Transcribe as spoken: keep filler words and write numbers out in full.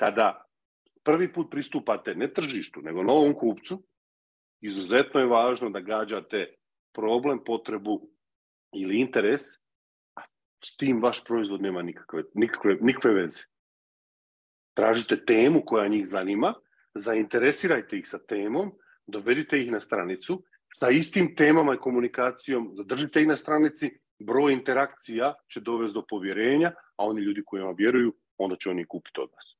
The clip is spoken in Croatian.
kada prvi put pristupate ne tržištu, nego novom kupcu, izuzetno je važno da gađate problem, potrebu ili interes, a s tim vaš proizvod nema nikakve, nikakve, nikakve veze. Tražite temu koja njih zanima, zainteresirajte ih sa temom, dovedite ih na stranicu, sa istim temama i komunikacijom zadržite ih na stranici, broj interakcija će dovesti do povjerenja, a oni ljudi koji vam vjeruju, onda će oni kupiti od vas.